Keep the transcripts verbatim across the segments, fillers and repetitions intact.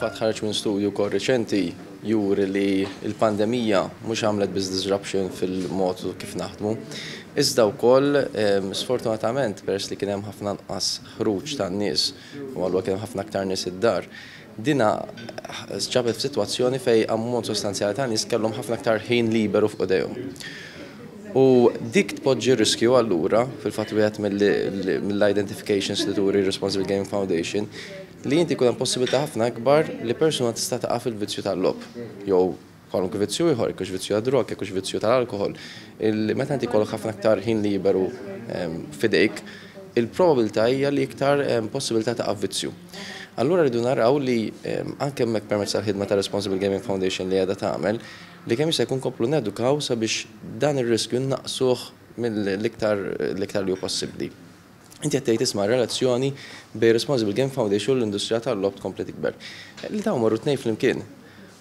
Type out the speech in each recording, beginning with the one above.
Fil-fatt ħareġ minn studju wkoll reċenti juri li l-pandemija mhux għamlet biss disruption fil-mod kif naħdmu, iżda wkoll sfortunatament peress li kien hemm ħafna anqas ħruġ tan-nies u allura kien hemm ħafna aktar nies id-dar, dina ġabet f'sitwazzjoni fejn ammont sostanzjali ta' nies kellhom ħafna aktar ħin liberu fuq idejhom. U dik tpoġġi riskju allura, fil-fatt wieħed mill-identifications li turi Responsible Gaming Foundation, li inti jkun hemm possibilità ħafna akbar li persuna tista' taqa' fil-vizzju tal-logħob jew kwalunkwe vizzju ieħor, jekk hux vizzju tad-drog, jekk hux vizzju tal-alkoħol. Meta inti jkollok ħafna aktar ħin liberu f'idejk, il-probabilità hija li iktar possibilità taqa' vizzju. Allura rridu naraw li anke hemmhekk permezz tal-ħidma ta' Responsible Gaming Foundation li qiegħda tagħmel, li kemm jista' jkun komplu nedukaw sabiex dan ir-riskju naqsuh mill-iktar l-iktar li hu possibbli. Inti qed tgħid, isma', relazzjoni bejn Responsible Gaming Foundation u l-industrija tal-logħob tkompli tikber. Li dawn marru tnejn flimkien.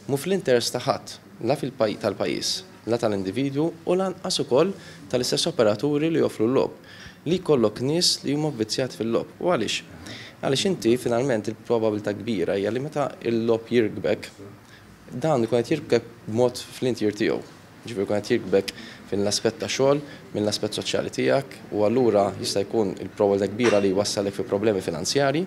Mhu fl-interess ta' ħadd, la fil tal-pajjiż, la tal-individwu u lanqas ukoll tal-istess operaturi li joffru l-logħob, li jkollok nies li huma vvizzjati fil-logħob. U għaliex? Għaliex inti finalment il-probabilità kbira hija li meta l-logħob jirkbek, dan ikun qed jirkbek b'mod fl-intier tiegħu. Ġifieri jkun qed jirkbek fil-aspett ta' xogħol, mill-aspett soċjali tiegħek, u allura jista' jkun il-probabilità kbira li jwassalek fi problemi finanzjari.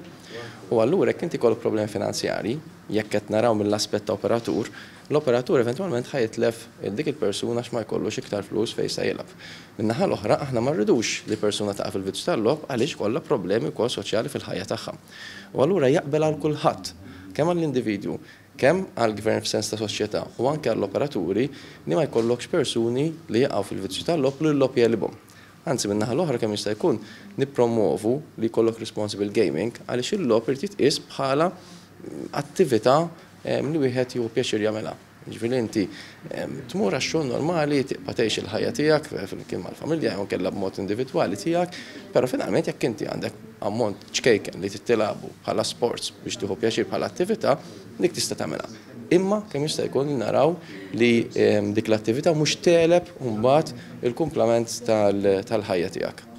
U allura jekk inti jkollok problemi finanzjari, jekk qed naraw mill-aspett ta' operatur, l-operatur eventwalment ħa jitlef dik il-persuna għax ma jkollux iktar flus fejn se jilgħab. Min-naħa l-oħra, aħna ma rridux li persuna taqa' fil-vizzju tal-logħob għaliex kollha problemi wkoll soċjali fil-ħajja tagħha. U allura jaqbel għal kulħadd, kemm għall-individwu, kemm għall-gvern f'sens ta' soċjetà u anke għall-operaturi, li ma jkollokx persuni li jaqgħu fil-vizzju tal-logħob li l-logħob jegħlibhom. Anzi, min-naħa l-oħra, kemm jista' jkun nippromovu li jkollok responsible gaming, għaliex il-logħob irid jitqies bħala attività li wieħed jieħu pjaċir jagħmilha. Ġifieri inti tmur għax-xogħol normali, tibqa' tgħix il-ħajja tiegħek flimkien mal-familja jew kellha b'mod individwali tiegħek, però finalment jekk inti għandek ammont ċkejken li tilagħbu bħala sports biex tieħu pjaċir bħala attività, dik tista' tagħmilha. Imma kemm jista' jkun naraw li dik l-attività mhux tegħleb mbagħad il-kumplament tal-ħajja tiegħek.